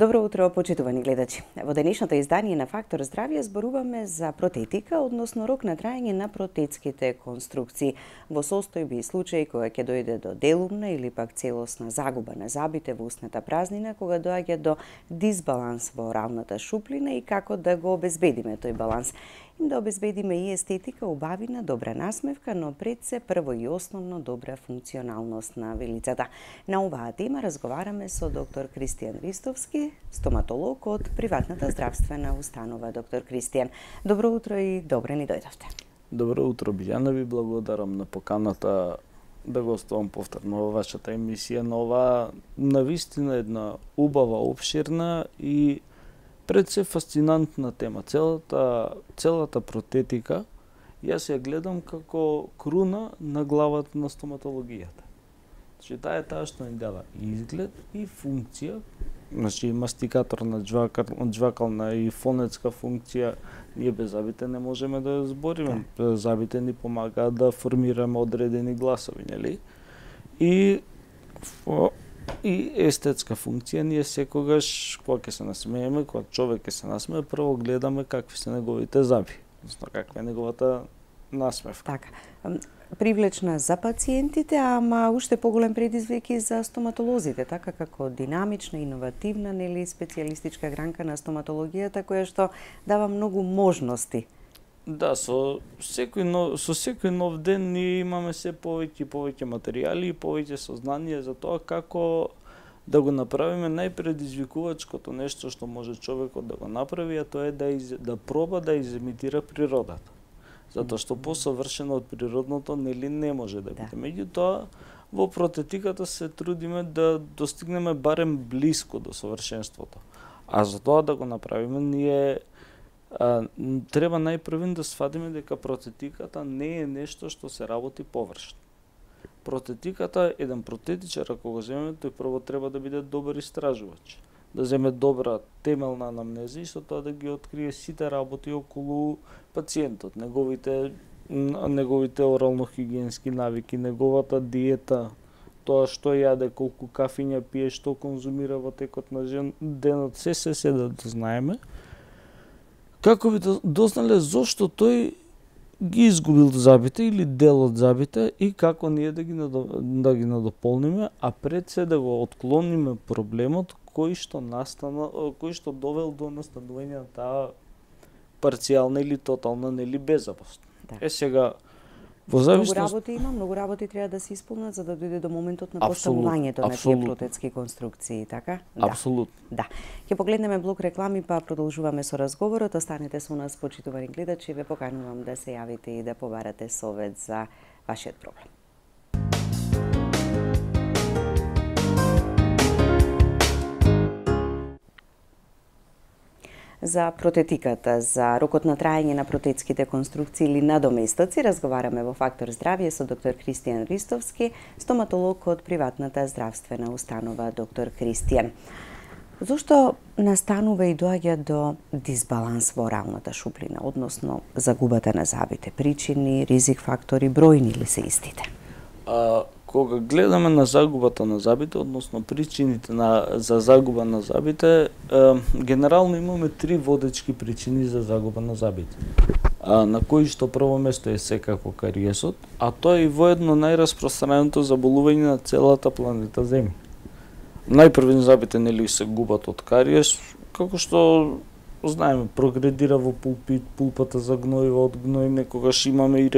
Добро утро, почитувани гледачи. Во денешното издание на Фактор здравје зборуваме за протетика, односно рок на траење на протетските конструкции. Во состојби и случаи кога ќе дојде до делумна или пак целосна загуба на забите во устната празнина, кога доаѓа до дисбаланс во оралната шуплина и како да го обезбедиме тој баланс. Да обезбедиме и естетика, убавина, добра насмевка, но пред се прво и основно добра функционалност на вилицата. На оваа тема разговараме со доктор Кристијан Ристовски, стоматолог од приватната здравствена установа. Доктор Кристијан, добро утро и добре ни дојдовте. Добро утро, Билјана, ви благодарам на поканата да гостувам повторно во вашата емисија на оваа навистина една убава, обширна и пред се фасцинантна тема. Целата протетика јас ја гледам како круна на главата на стоматологијата. Значи, таа што ни дава изглед и функција, значи мастикаторна, џвакална и фонетска функција. Ние без забите не можеме да ја збориме. Забите ни помагаат да формираме одредени гласови, нели? И естетска функција, ние секогаш, кога ќе се насмееме, кога човек ќе се насмее, прво гледаме какви се неговите заби, односно каква е неговата насмевка. Така, привлечна за пациентите, ама уште поголем предизвик и за стоматолозите, така како динамична, иновативна, нели, специјалистичка гранка на стоматологијата, која што дава многу можности. Да, со секој нов ден ние имаме се повеќе и повеќе материјали и повеќе сознание за тоа како да го направиме најпредизвикувачкото нешто што може човекот да го направи, а тоа е да проба да изимитира природата. Затоа што посовршено од природното нели не може да биде. Меѓутоа, во протетиката се трудиме да достигнеме барем блиско до совршенството. А за тоа да го направиме ние треба најпрвен да сватиме дека протетиката не е нешто што се работи површно. Протетиката, еден протетичар, ако го земеме, тој прво треба да биде добар истражувач, да земе добра темелна анамнеза и со тоа да ги открие сите работи околу пациентот, неговите орално-хигиенски навики, неговата диета, тоа што јаде, колку кафиња пие, што конзумира во текот на денот, се да знаеме, како би дознале зошто тој ги изгубил забите или дел од забите и како ние да ги надополниме, а пред се да го отклониме проблемот кој што довел до настанување на таа парцијална или тотална нели беззабост. Да. Сега во зависност многу работи треба да се исполнат за да дојде до моментот на поставувањето на тие протетски конструкции, така? Апсолутно. Да. Ќе погледнеме блок реклами па продолжуваме со разговорот. Останете со нас, почитувани гледачи, ве поканувам да се јавите и да побарате совет за вашиот проблем. За протетиката, за рокот на траење на протетските конструкции или надоместоци разговараме во Фактор здравје со доктор Кристијан Ристовски, стоматолог од приватната здравствена установа. Доктор Кристијан, зошто настанува и доаѓа до дисбаланс во оралната шуплина, односно загубата на забите? Причини, ризик фактори, бројни ли се истите? Кога гледаме на загубата на забите, односно причините за загуба на забите, генерално имаме три водечки причини за загуба на забите. На кои што прво место е секако кариесот, а тоа е и воедно најраспространеното заболување на целата планета Земја. Најпрвен забите нели се губат од кариес, како што знаеме, прогредира во пулпата загнојува од гној, некогаш имаме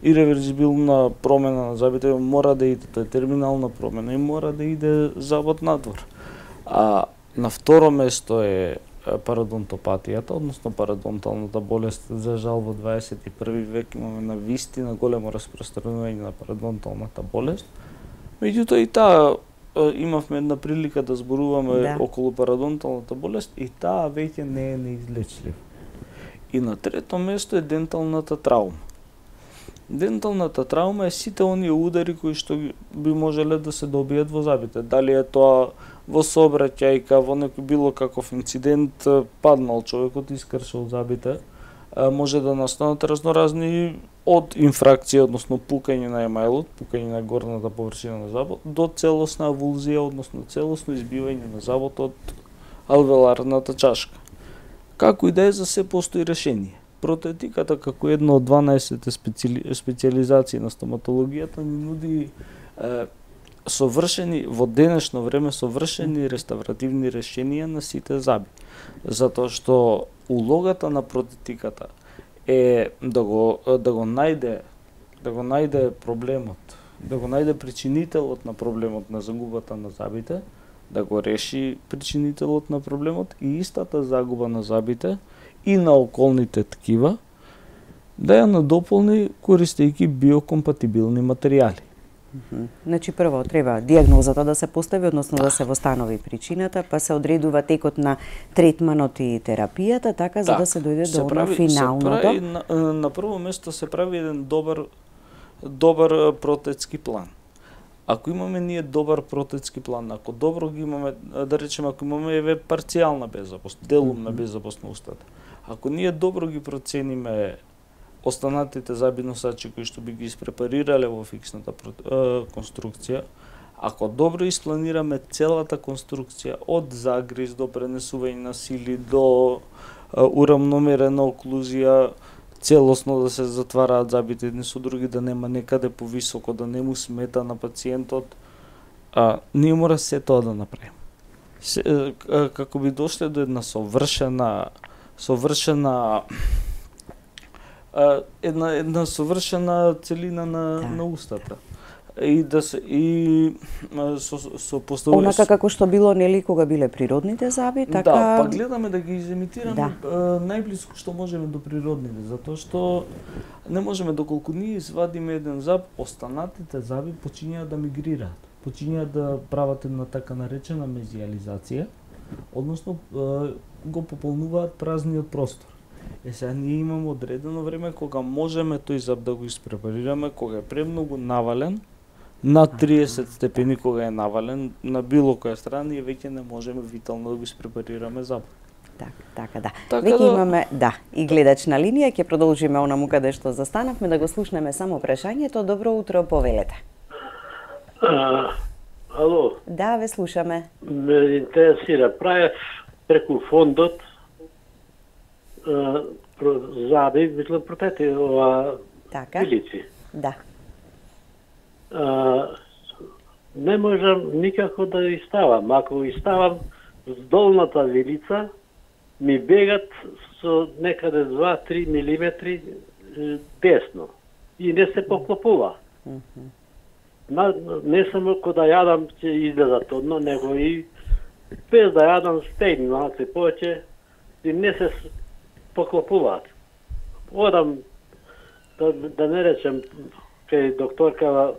иреверзибилна промена на забите, мора да иде, тоа е терминална промена и мора да иде забот надвор. А на второ место е пародонтопатијата, односно пародонталната болест. За жал во 21 век имаме навистина големо распространување на пародонталната болест. Меѓутоа и таа имавме една прилика да зборуваме околу пародонталната болест и таа веќе не е неизлечлива. И на трето место е денталната траума. Денталната траума е сите оние удари кои што би можеле да се добијат во забите. Дали е тоа во сообраќајка, во некој било каков инцидент, паднал човекот, искршал забите, може да настанат разноразни од инфракција, односно пукање на емајлот, пукање на горната површина на забот, до целосна авулзија, односно целосно избивање на забот од алвеоларната чашка. Како и да е, за се постои решение. Протетиката, како една од 12 специализации на стоматологијата, ни нуди совршени, во денешно време, совршени реставративни решенија на сите заби. Затоа што улогата на протетиката е да го најде проблемот, да го најде причинителот на проблемот на загубата на забите, да го реши причинителот на проблемот и истата загуба на забите и на околните ткива да ја надополни користејќи биокомпатибилни материјали. Значи прво треба дијагнозата да се постави, односно да се востанови причината, па се одредува текот на третманот и терапијата, така за да се дојде до она финалното. На прво место се прави еден добар протетски план. Ако имаме ние добар протетски план, ако добро ги имаме, да речеме, ако имаме парцијална беззапосленост, делумна беззапосленост на устата, ако ние добро ги процениме останатите заби носачи кои што би ги испрепарирале во фиксната конструкција, ако добро испланираме целата конструкција од загриз до пренесување на сили до урамномерена оклузија, целосно да се затвараат забите едни со други, да нема некаде повисоко, да не му смета на пациентот, ние мора се тоа да направиме. Како би дошле до една една совршена целина на устата. И да се со поставување онака како што било, нели, кога биле природните заби, така. Да, па гледаме да ги изимитираме најблиску што можеме до природните, затоа што не можеме, доколку ние извадиме еден заб, останатите заби почињаат да мигрираат, почињаат да прават една така наречена мезиализација, односно го пополнуваат празниот простор. Сега ние имаме одредено време кога можеме тој заб да го испрепарираме, кога е премногу навален, на 30 степени кога е навален на било која страна, ние веќе не можеме витално да го испрепарираме забот. Така да. Веќе имаме, и гледач на линија, ќе продолжиме онаму каде што застанавме, да го слушнеме само прашањето. Добро утро, повелете. Ало. Да, ве слушаме. Ме интересира, правев преку фондот заби, мислам, протети ова пилици. Да. Не можам никако да ги ставам. Ако ги ставам с долната вилица, ми бегат со некаде 2-3 милиметри десно и не се поклопува. Не само кога да јадам ќе излезат одно, него и без да јадам стегни малце повеќе и не се поклопуваат. Одам, да не речем, кај докторка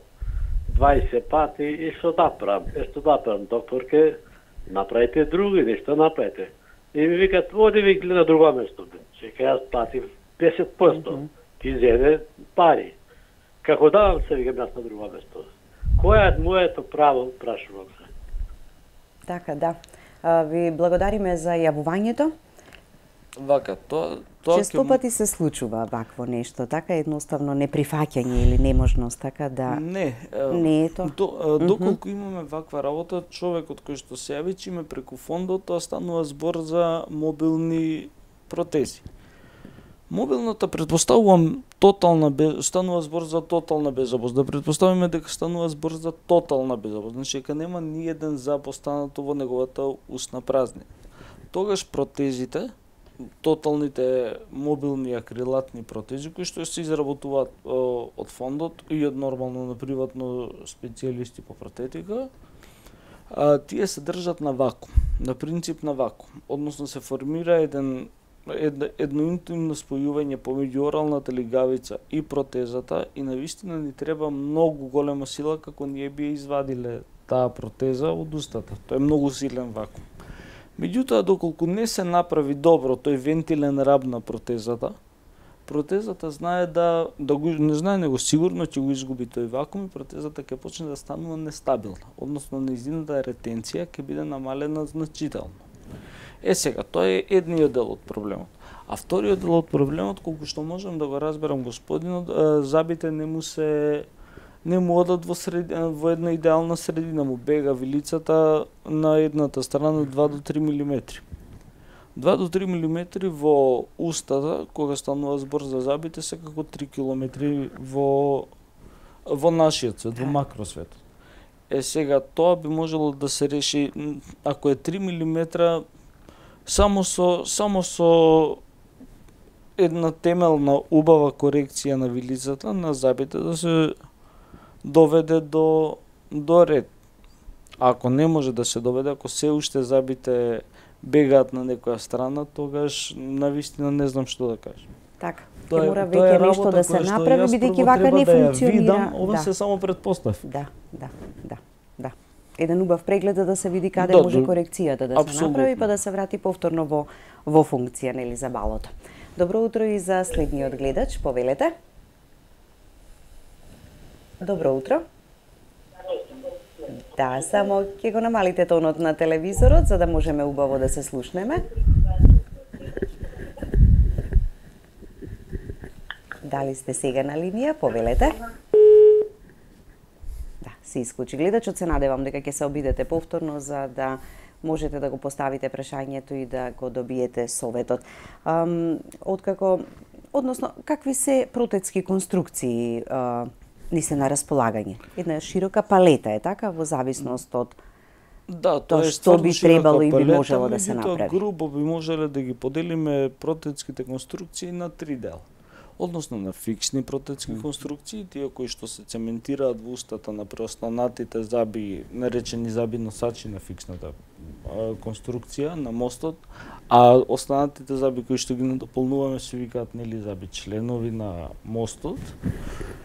20 пати и што да правам, докторке, направите други, нешто направите. И ми викат, оди ви гледа друго место. Че јас платив 10%, ти зеде пари. Како давам се, викам јас на друго место. Која е моето право, прашувам се. Така, да. Ви благодариме за јавувањето. Вака, тоа често пати се случува вакво нешто, така едноставно неприфаќање или неможност, така да не е тоа. Доколку имаме ваква работа, човекот кој што се јави чиме преку фондот, тоа станува збор за мобилни протези. Мобилната претпоставувам станува збор за тотална беззапосленост. Да претпоставиме дека станува збор за тотална беззапосленост, значи дека нема ни еден зап останато во неговата устна празнина. Тогаш протезите, тоталните мобилни акрилатни протези кои што се изработуваат од фондот и од нормално на приватно специјалисти по протетика, тие се држат на вакуум, на принцип на вакуум, односно се формира едно интимно спојување помеѓу оралната лигавица и протезата и навистина ни треба многу голема сила како ние би извадиле таа протеза од устата. Тоа е многу силен вакуум. Меѓутоа, доколку не се направи добро тој вентилен раб на протезата знае не знае него сигурно ќе го изгуби тој вакуум и протезата ќе почне да станува нестабилна, односно нејзината ретенција ќе биде намалена значително. Сега, тоа е едниот дел од проблемот. А вториот дел од проблемот, колку што можам да го разберам господинот, забите не му одат во една идеална средина, му бега вилицата на едната страна 2 до 3 милиметри. 2 до 3 милиметри во устата, кога станува збор за забите, се како 3 километри во нашиот свет, во макросветот. Сега тоа би можело да се реши ако е 3 милиметра само со една темелна убава корекција на вилицата на забите да се доведе до ред. Ако не може да се доведе, ако се уште забите бегаат на некоја страна, тогаш навистина не знам што да кажам. Така, ќе мора веќе нешто да се направи, бидејќи вака не функционира. Ова се само предпоставки. Да. Еден убав преглед да се види каде може корекцијата да се направи, па да се врати повторно во функција, нели, за балото. Добро утро и за следниот гледач, повелете. Добро утро. Да, само ќе го намалите тонот на телевизорот, за да можеме убаво да се слушнеме. Дали сте сега на линија? Повелете. Да, се исклучи гледачот. Се надевам дека ќе се обидете повторно за да можете да го поставите прашањето и да го добиете советот. Какви се протетски конструкции ни се на располагање? Една широка палета е така, во зависност од тоа што би требало и би можело да се направи. Грубо би можеле да ги поделиме протетските конструкции на 3 дела. Односно на фиксни протетски конструкции, тие кои што се цементираат во устата на преостанатите заби, наречени заби носачи на фиксната конструкција на мостот, а останатите заби кои што ги надополнуваме се викаат нели заби членови на мостот.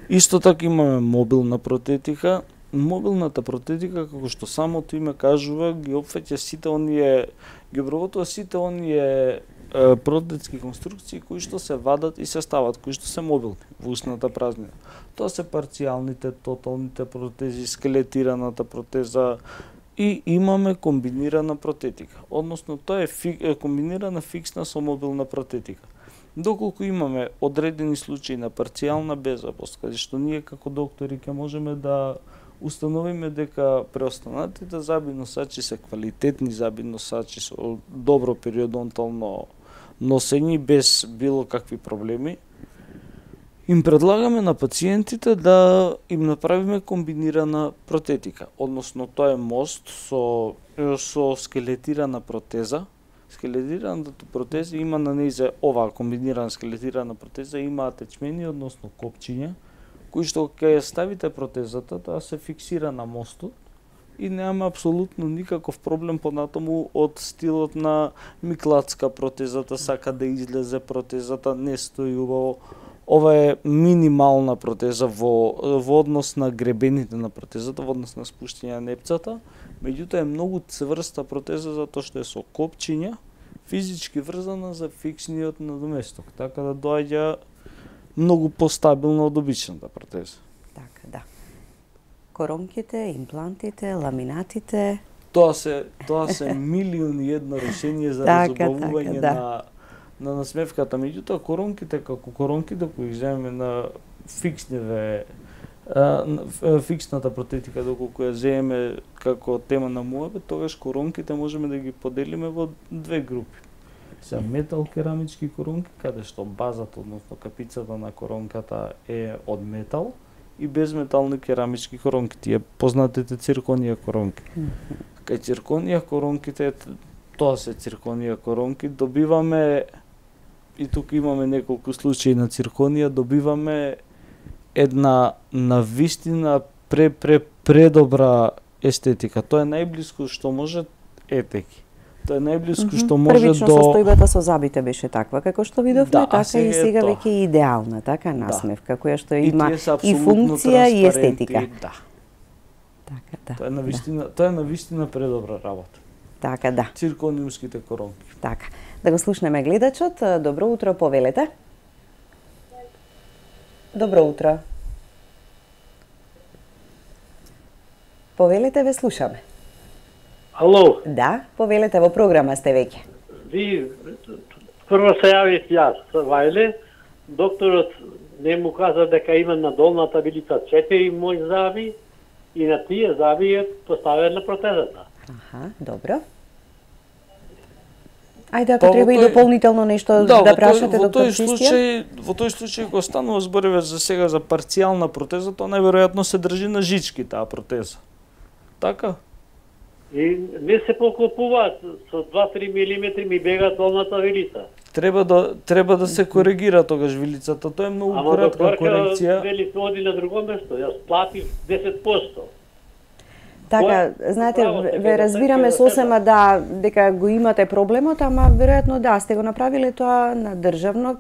Исто така имаме мобилна протетика. Мобилната протетика, како што самото име кажува, ги опфаќа сите оние, ги обработува сите оние протетски конструкции кои што се вадат и се стават, кои што се мобилни во устната празнина. Тоа се парцијалните, тоталните протези, скелетираната протеза и имаме комбинирана протетика. Односно тоа е комбинирана фиксна со мобилна протетика. Доколку имаме одредени случаи на парцијална беззабост, каде што ние како доктори ќе можеме да установиме дека преостанатите заби носачи се квалитетни заби носачи со добро периодонтално носење без било какви проблеми, им предлагаме на пациентите да им направиме комбинирана протетика. Односно тоа е мост со скелетирана протеза. Скелетираната протеза има на нејзе оваа комбинирана скелетирана протеза има атечмени, односно копчиња, кои што ќе ставите протезата, тоа се фиксира на мостот и немаме апсолутно никаков проблем понатаму од стилот на миклацка протезата, сака да излезе протезата, не стои убаво. Ова е минимална протеза во однос на гребените на протезата, во однос на спуштање на непцата, меѓутоа е многу цврста протеза затоа што е со копчиња, физички врзана за фиксниот надоместок, така да доаѓа многу постабилно од обичната протеза. Така, да. Коронките, имплантите, ламинатите. Тоа се милиони едно решение за разубавување на насмевката. Меѓутоа коронките како коронките кои земеме на фиксната протетика, доколку ја земеме како тема на муабет, тогаш коронките можеме да ги поделиме во две групи. Се метал керамички коронки, каде што базата, односно капицата на коронката е од метал, и безметални керамички коронки, тие познатите цирконија коронки. Кај цирконија коронките, тоа се цирконија коронки, добиваме, и тука имаме неколку случаи на цирконија, добиваме една навистина предобра естетика. Тоа е најблиску што може етеки. Тоа е најблиску што може Првично состојбата со забите беше таква, како што видовме, така и сега веќе е идеална, така насмевка, која што има и функција и естетика. Да. Така, да. Тоа е навистина предобра работа. Така, да. Циркониумските коронки. Така. Да го слушнеме гледачот. Добро утро, повелете. Добро утро. Повелете, ве слушаме. Ало. Да, повелете, во програма сте веќе. Прво се јавив јас, Вајле, докторот не му каза дека има на долната вилица 4 заби и на тие заби е поставена протезата. Аха, добро. Ајде, ако треба и дополнително нешто да прашате, доктор Христијан? Во тој случај, кога станува збориве за сега за парцијална протеза, тоа најверојатно се држи на жички таа протеза. Така? И не се поклопуваат, со 2-3 милиметри ми бега долната вилица. Треба да се коригира тогаш вилицата, тоа е многу кратка корекција. Ама вели оди на друго место, јас платив 10%. Така, знаете, ве разбираме сосема дека го имате проблемот, ама веројатно сте го направиле тоа на државно,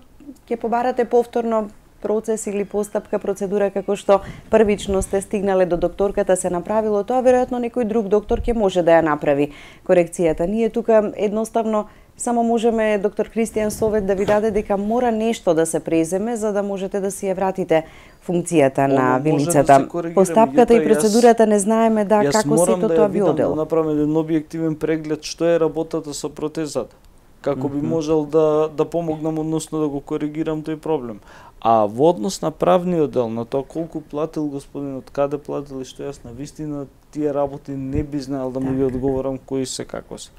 ќе побарате повторно процес или постапка, процедура како што првично сте стигнале до докторката, се направило тоа, веројатно некој друг доктор ќе може да ја направи корекцијата. Ние тука едноставно само можеме, доктор Христијан, совет да ви даде дека мора нешто да се преземе за да можете да си ја вратите функцијата на вилицата. Постапката и процедурата не знаеме како сето тоа би одело. Да направам еден објективен преглед што е работата со протезата. Како би можел да помогнам, односно да го коригирам тој проблем. А во однос на правниот дел, на тоа колку платил господинот, каде платил и што, јас на вистина тие работи не би знаел да му ги одговорам кои се како се.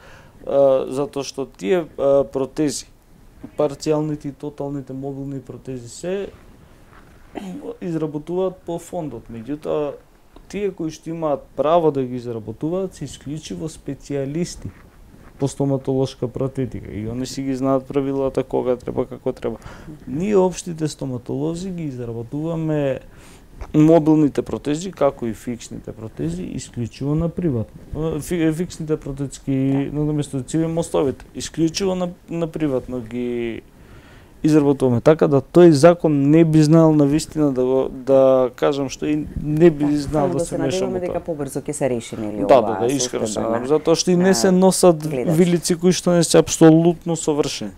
Затоа што тие протези, парцијалните и тоталните мобилни протези се изработуваат по фондот. Меѓутоа, тие кои што имаат право да ги изработуваат се исклучиво специјалисти по стоматолошка протетика и они си ги знаат правилата кога треба, како треба. Ние општите стоматолози ги изработуваме мобилните протези, како и фиксните протези, исклучиво на приватно. Фиксните протетски надоместоци мостовите, исклучиво на приватно ги изработуваме. Така да тој закон не би знал на вистина да кажам што и не би знал да се мешам во тоа. Дека побрзо ќе се реши нели ова. Да, искрено се надам, затоа што и не се носат вилици кои што не се апсолутно совршени.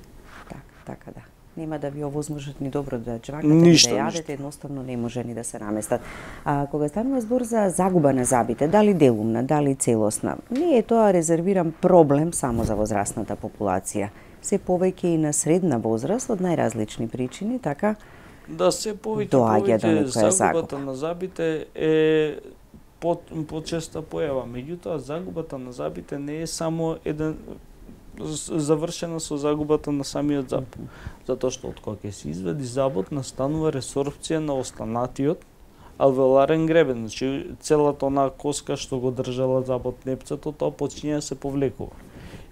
Така да. Нема да ви овозможат ни добро да чвакате, ни да јадете, едноставно не може ни да се наместат. Кога станува збор за загуба на забите, дали делумна, дали целосна, не е тоа резервиран проблем само за возрастната популација. Се повеќе и на средна возраст од најразлични причини, така? Да, се повеќе загубата на забите е почеста појава. Меѓутоа, загубата на забите не е само завршена со загубата на самиот заб. Затоа што од кога ќе се извади забот, настанува ресорбција на останатиот алвеоларен гребен. Значи, целата онаа коска што го држала забот непцето, тоа почиња да се повлекува.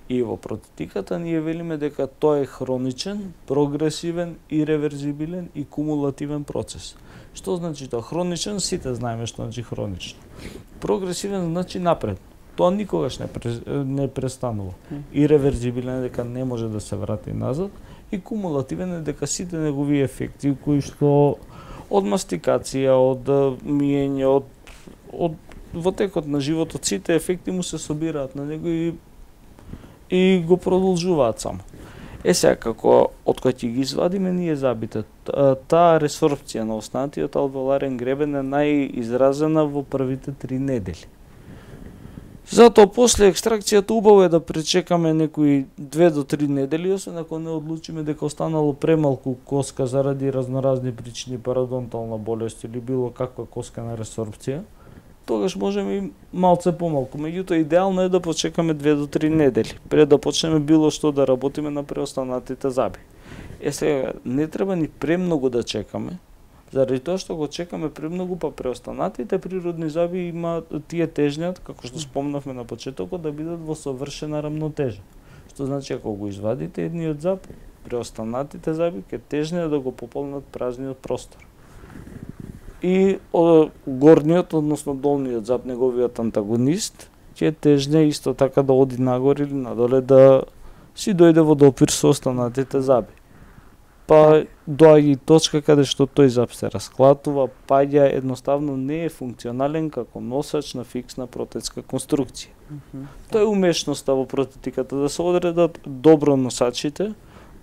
И во протетиката ние велиме дека тоа е хроничен, прогресивен, иреверзибилен и кумулативен процес. Што значи тоа? Хроничен, сите знаеме што значи хроничен. Прогресивен значи напред. Тоа никогаш не престанува. Иреверзибилен е дека не може да се врати назад и кумулативен е дека сите негови ефекти кои што од мастикација, од миење, од во текот на животот сите ефекти му се собираат на него и го продолжуваат само. Сега, како од кога ќе ги извадиме ние забите, таа ресорбција на останатиот алвеоларен гребен е најизразена во првите 3 недели. Затоа после екстракцијата убаво е да пречекаме некои 2 до 3 недели, освен ако не одлучиме дека останало премалку коска заради разноразни причини, парадонтална болест или било каква коска на ресорбција, тогаш можеме и малце помалку. Меѓутоа, идеално е да почекаме 2 до 3 недели, пред да почнеме било што да работиме на преостанатите заби. Сега, не треба ни премногу да чекаме, заради тоа што го чекаме премногу, па преостанатите природни заби има тие тежњат, како што спомнавме на почетокот, да бидат во совршена рамнотежа. Што значи, ако го извадите едниот заб, преостанатите заби ќе тежнеат да го пополнат празниот простор. И горниот, односно долниот заб, неговиот антагонист, ќе тежне исто така да оди нагоре или надоле да си дојде во допир со останатите заби. Па доаѓа и точка каде што тој заб се расклатува, паѓа, едноставно не е функционален како носач на фиксна протетска конструкција. Тоа е умешноста во протетиката, да се одредат добро носачите,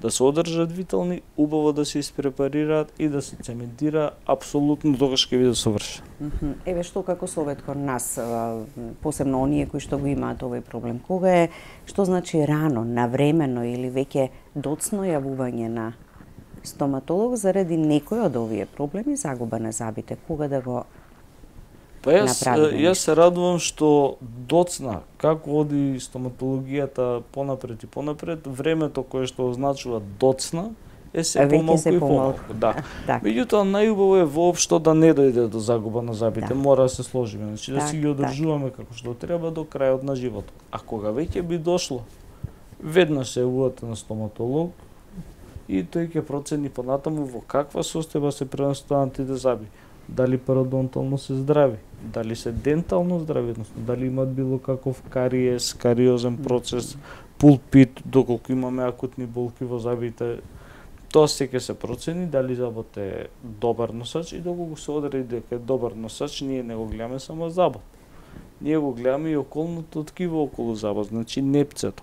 да се одржат витални, убаво да се испрепарираат и да се цементира апсолутно тогаш ќе биде совршен. Еве што како совет кон нас, посебно оние кои што го имаат овој проблем, кога е, што значи рано, навремено или веќе доцно јавување на стоматолог заради некој од овие проблеми, загуба на зъбите, кога да го јас се радувам што доцна како оди стоматологијата понапред и понапред, времето кое што означува доцна е се помалку и помалку. Да. Меѓутоа најубаво е воопшто да не дојде до загуба на зъбите, мора да се сложиме, значи да си ги одржуваме како што треба до крајот на животот. А кога веќе би дошло, веднаш се јавувате на стоматолог и тој ќе процени понатаму во каква состојба се пренесуваат тие зъби. Дали пародонтално се здрави, дали се дентално здрави, односно дали имат било каков кариес, кариозен процес, пулпит, доколку имаме акутни болки во зъбите. Тоа се ќе се процени дали зъбот е добар носач и доколку се одреди дека е добар носач, ние не го гледаме само зъбот. Ние го гледаме и околното ткиво околу зъбот, значи непцето,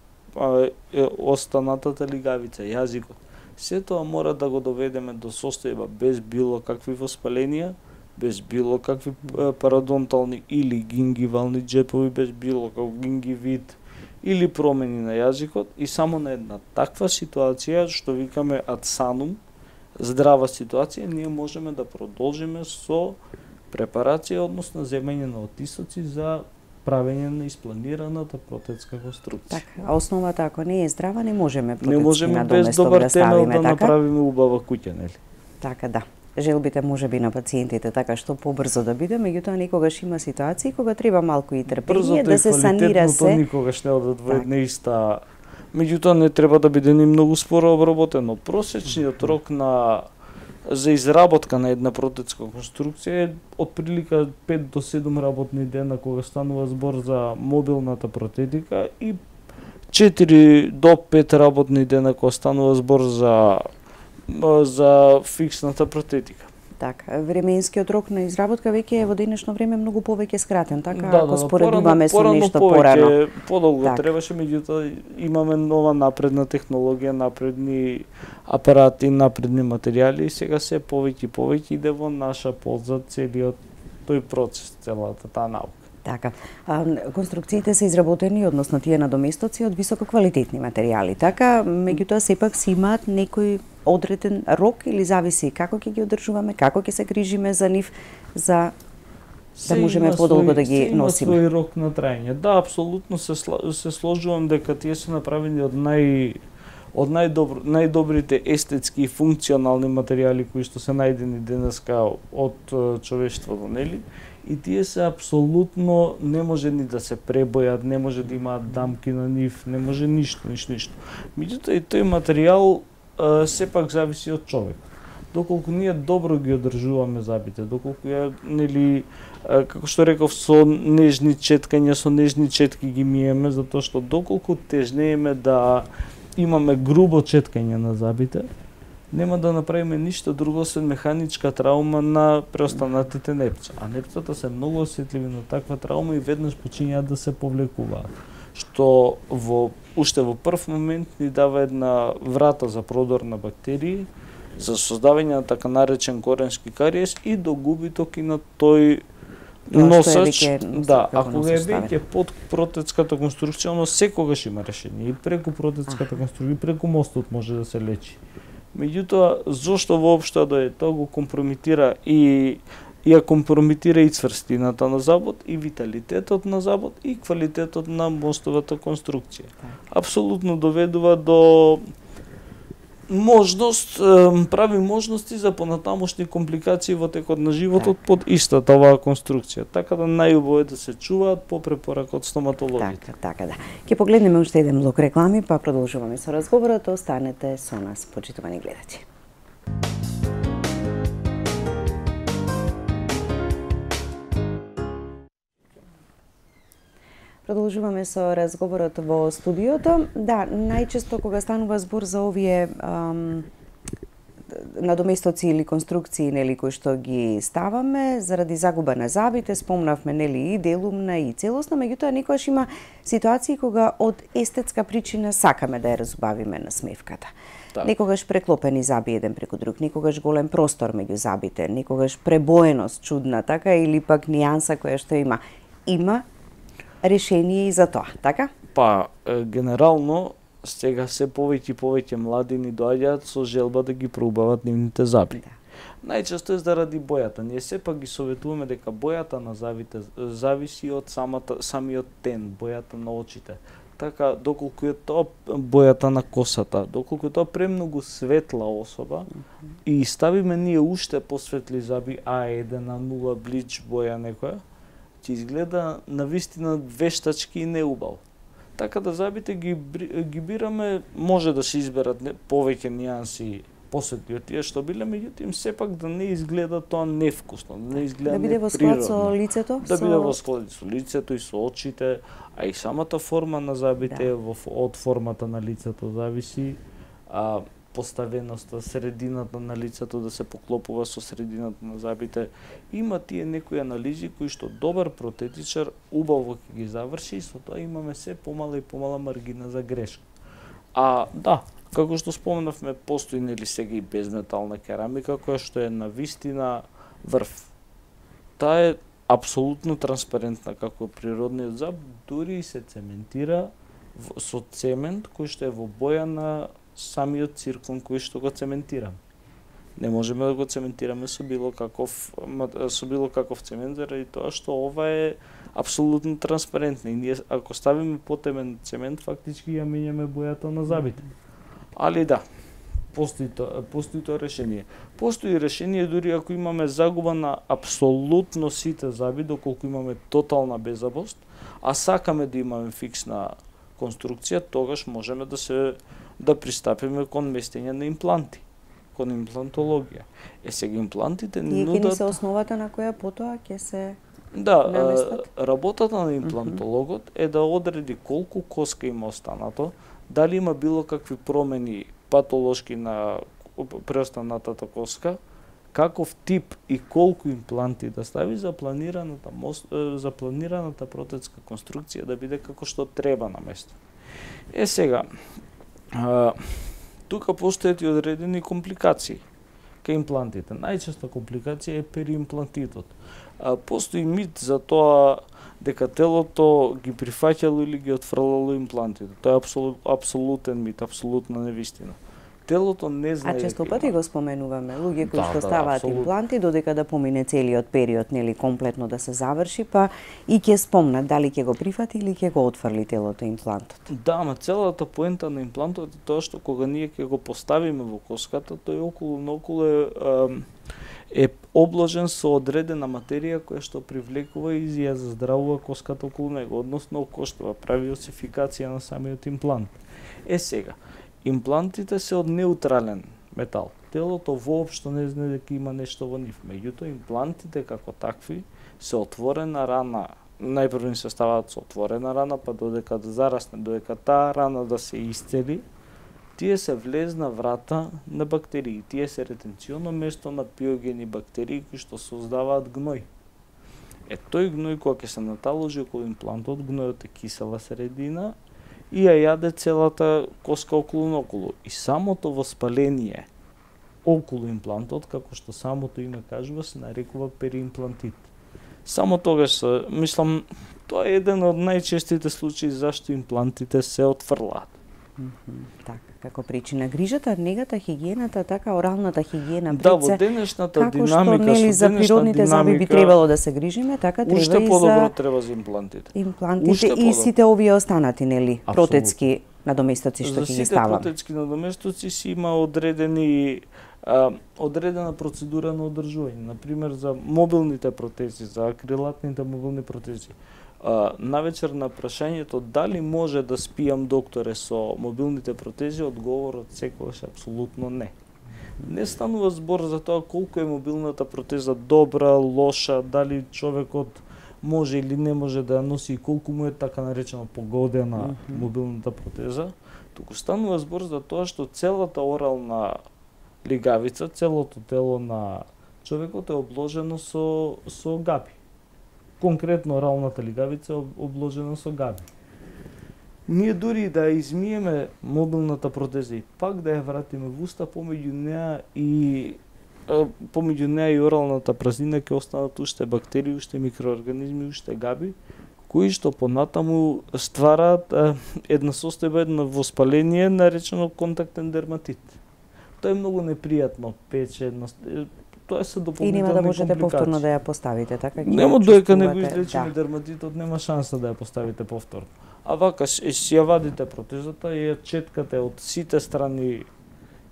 останатата лигавица, јазикот. Се тоа мора да го доведеме до состојба без било какви воспаленија, без било какви пародонтални или гингивални џепови, без било каков гингивит или промени на јазикот и само на една таква ситуација, што викаме ad sanum, здрава ситуација, ние можеме да продолжиме со препарација, односно земање на отисоци за правење на испланираната протетска конструкција. Така, а основата ако не е здрава, не можеме протетски не можеме без добар темел да направиме убава куќа, нели? Така, да. Желбите можеби на пациентите така што побрзо да биде, меѓутоа некогаш има ситуации кога треба малку и трпение да се санира се. Никогаш не одат во една иста. Меѓутоа не треба да биде ни многу споро обработено. Просечниот рок за изработка на една протетска конструкција е отприлика 5 до 7 работни дена кога станува збор за мобилната протетика и 4 до 5 работни дена кога станува збор за фиксната протетика. Така, временскиот рок на изработка веќе е во денешно време многу повеќе скратен, така ако споредуваме со нешто порано. Подолго требаше, меѓутоа имаме нова напредна технологија, напредни апарати, напредни материјали и сега се повеќе и повеќе иде во наша полза целиот тој процес, целата таа наука. Така, конструкциите се изработени, односно тие надоместоци од висококвалитетни материјали, така, меѓутоа сепак си имаат некој одреден рок или зависи како ќе ги одржуваме, како ќе се грижиме за нив, за да можеме подолго да ги носиме. Има свој рок на траење. Да, апсолутно се сложувам дека тие се направени од најдобрите естетски и функционални материјали кои што се најдени денеска од човештвото, нели? И тие се апсолутно не може ни да се пребојат, не може да имаат дамки на нив, не може ништо. Меѓутоа и тој материјал сепак зависи од човек. Доколку ние добро ги одржуваме зъбите, доколку нели како што реков со нежни четкања, со нежни четки ги миеме, затоа што доколку тежнееме да имаме грубо четкање на зъбите, нема да направиме ништо друго освен механичка траума на преостанатите непца. А непцата се многу осетливи на таква траума и веднаш почињаат да се повлекуваат. Што уште во прв момент ни дава една врата за продор на бактерии, за создавање на така наречен коренски кариес и до губиток и на тој носач. Да, ако е веќе под протетската конструкција, но секогаш има решение. И преку протетската конструкција, и преку мостот може да се лечи. Меѓутоа, зошто воопшто да тоа го компрометира и ја компрометира и цврстината на зъбот, и виталитетот на зъбот, и квалитетот на мостовата конструкција. Апсолутно доведува до прави можности за понатамошни компликации во текот на животот под истата оваа конструкција. Така да најубаво е да се чуваат по препорака од стоматологите. Така да. Ќе погледнеме уште еден блок реклами, па продолжуваме со разговорот. Останете со нас, почитувани гледачи. Продолжуваме со разговорот во студиото. Да, најчесто кога станува збор за овие надоместоци или конструкции нели кои што ги ставаме заради загуба на забите, спомнавме нели и делумна и целосна, меѓутоа некогаш има ситуации кога од естетска причина сакаме да ја разубавиме на смевката. Так. Некогаш преклопени заби еден преку друг, некогаш голем простор меѓу забите, некогаш пребоеност чудна, така, или пак нијанса која што има. Има решение и за тоа, така? Па, генерално, сега се повеќе и повеќе младини доаѓаат со желба да ги проубават нивните заби. Да. Најчесто е заради бојата. Ние сепак ги советуваме дека бојата на забите зависи од самиот тен, бојата на очите. Така, доколку е тоа бојата на косата, доколку е тоа премногу светла особа, и ставиме ние уште посветли заби, А1, А0, блич боја некоја, ќе изгледа навистина вештачки и неубаво. Така да забите ги бираме, може да се изберат повеќе нијанси посветли од тие што биле, меѓутоа сепак да не изгледа тоа невкусно, да не изгледа да биде во склад со лицето, да биде во склад со лицето и со очите, а и самата форма на забите од формата на лицето зависи, поставеноста, средината на лицето да се поклопува со средината на забите. Има тие некои анализи кои што добар протетичар убаво ќе ги заврши и со тоа имаме се помала и помала маргина за грешка. Да, како што споменавме, постои нели сега и безметална керамика која што е навистина врв. Таа е апсолутно транспарентна како природниот заб, дури и се цементира со цемент кој што е во боја на самиот циркон кој што го цементираме. Не можеме да го цементираме со било каков цемент, заради тоа што ова е апсолутно транспарентно и ние ако ставиме потемен цемент фактички ја менјаме бојата на забите. Али да, постои тоа решение. Постои решение дури ако имаме загуба на апсолутно сите заби, доколку имаме тотална беззабост, а сакаме да имаме фиксна конструкција, тогаш можеме да пристапиме кон местење на импланти, кон имплантологија. Сега имплантите нудат... И ќе ни се основата на која потоа ќе се наместат? Работата на имплантологот е да одреди колку коска има останато, дали има било какви промени патолошки на преостанатата коска, каков тип и колку импланти да стави за планираната протетска конструкција да биде како што треба на место. Сега, тука постојат и одредени компликации кај имплантите. Најчеста компликација е периимплантитот. Постои мит за тоа дека телото ги прифаќало или ги отфрлало имплантите. Тоа е апсолутен мит, апсолутна невистина. Телото не знае. А често пати го споменуваме луѓе кои што ставаат импланти додека да помине целиот период, нели комплетно да се заврши, па и ќе спомнат дали ќе го прифати или ќе го отфрли телото имплантот. Да, ама целата поента на имплантот е тоа што кога ние ќе го поставиме во коската, тој околу е обложен со одредена материја која што привлекува и ја заздравува коската околу него, односно окоштува, прави осификација на самиот имплант. Сега, имплантите се од неутрален метал. Телото воопшто не знае дека има нешто во нив. Меѓутоа, имплантите како такви се отворена рана. Најпрво им се ставаат со отворена рана, па додека да зарасне, додека таа рана да се исцели, тие се влезна врата на бактерии. Тие се ретенционно место на пиогени бактерии кои што создаваат гној. Тој гној кога ќе се наталожи околу имплантот, гнојот е кисела средина и ја јаде целата коска околу. И самото воспаление околу имплантот, како што самото име кажува, се нарекува периимплантит. Само тогаш, мислам, тоа е еден од најчестите случаи зашто имплантите се отфрлаат. Така, како причина грижата, негата, хигиената, така оралната хигиена Да, во денешната динамика, како што нели за природните заби би требало да се грижиме, така треба уште и подобро треба за имплантите. Имплантите и сите овие останати, нели, протетски надоместоци што ќе ги ставаме. За сите протетски надоместоци си има одредена процедура на одржување. Например, за мобилните протези, за акрилатните мобилни протези. Навечер на прашањето дали може да спијам, докторе, со мобилните протези, одговорот секогаш апсолутно не. Не станува збор за тоа колку е мобилната протеза добра, лоша, дали човекот може или не може да ја носи и колку му е така наречено погодена мобилната протеза, туку станува збор за тоа што целата орална лигавица, целото тело на човекот е обложено со габи. Конкретно оралната лигавица е обложена со габи. Ние дури да ја измиеме мобилната протеза и пак да ја вратиме во уста, помеѓу неа и оралната празнина ќе останат уште бактерии, уште микроорганизми, уште габи, кои што понатаму ствараат една состојба, едно воспаление наречено контактен дерматит. Тоа е многу непријатно, пече, тоа се дополнителни И нема да можете компликации. повторно да ја поставите, така? Нема доека не го чувствувате, излечиме дерматитот, нема шанса да ја поставите повторно. А вака, си ја вадите протезата и ја четкате од сите страни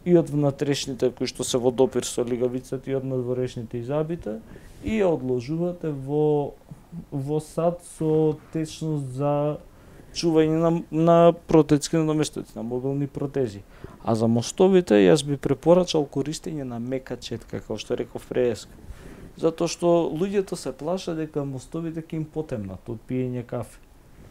и од внатрешните кои што се во допир со лигавицата и од надворешните и забите и ја одложувате во сад со течност за чување на протетски наместоци, на мобилни протези. А за мостовите јас би препорачал користење на мека четка, како што реков преска. Затоа што луѓето се плашат дека мостовите ќе им потемнат од пиење кафе.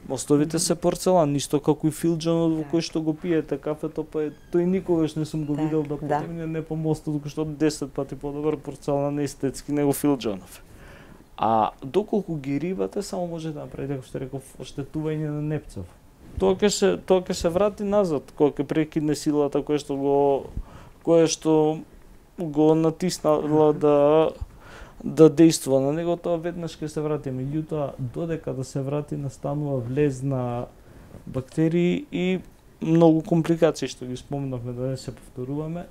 Мостовите се порцелан, ништо како и филџанот во кој што го пиете кафето, па тој никогаш не сум го видел да потемне не по мостот, кој што 10 пати подобар порцелан естетски него филџанов. А доколку ги ривате, само може да направите, како што реков, оштетување на непцов. Тоа ќе се врати назад, кога ќе прекине силата која што го натиснала да действува на него, тоа веднаш ќе се врати. Меѓутоа, додека да се врати, настанува влез на бактерии и многу компликации што ги спомнавме, да не се повторуваме,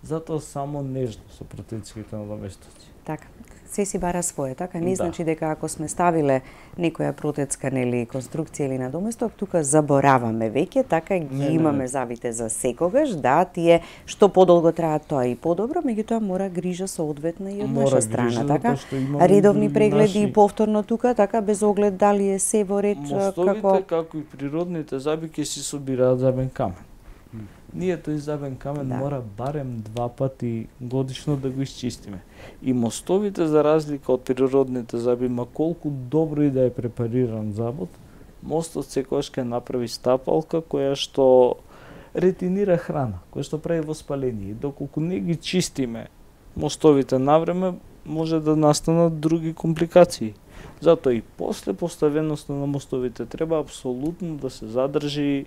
затоа само нежно со протетските надаместоци. Така, се си бара свое, така? Не значи дека ако сме ставиле некоја протетска конструкција или надоместок, тука забораваме веќе, така ги имаме завите за секогаш, да, тие што подолго траат тоа и подобро, меѓутоа мора грижа соодветна и од наша страна, така? Редовни прегледи и повторно тука, така, без оглед дали е се во ред Мостовите, како и природните заби, ќе си собираат забен камен. Ние тој забен камен мора барем 2 пати годишно да го исчистиме. И мостовите, за разлика од природните заби, ма колку добро и да е препариран забот, мостот секогаш ќе направи стапалка која што ретинира храна, која што прави воспаление. Доколку не ги чистиме мостовите навреме, може да настанат други компликации. Затоа и после поставеноста на мостовите треба апсолутно да се задржи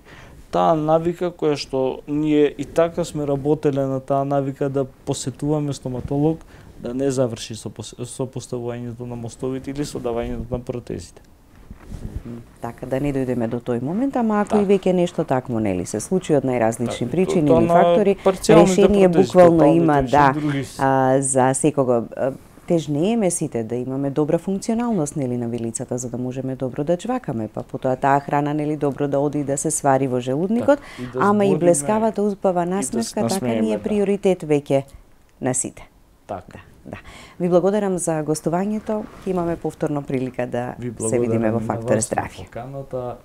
таа навика која што ние и така сме работеле на таа навика да посетуваме стоматолог, да не заврши со поставувањето на мостовите или со давањето на протезите. Така, да не дојдеме до тој момент, ама ако и веќе нешто такво нели се случи од најразлични причини или фактори, решение буквално има за секого. Тежнееме сите да имаме добра функционалност нели на вилицата за да можеме добро да чвакаме, па потоа таа храна нели добро да оди и да се свари во желудникот, ама и блескавата успава насмевка, така ни е приоритет веќе на сите. Така. Да. Ви благодарам за гостувањето. Имаме повторно прилика да се видиме во Фактор здравје. Поканата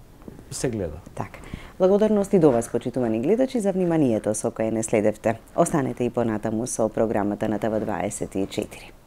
се гледа. Така. Благодарности до вас, почитувани гледачи, за вниманието со кое не следевте. Останете и понатаму со програмата на ТВ24.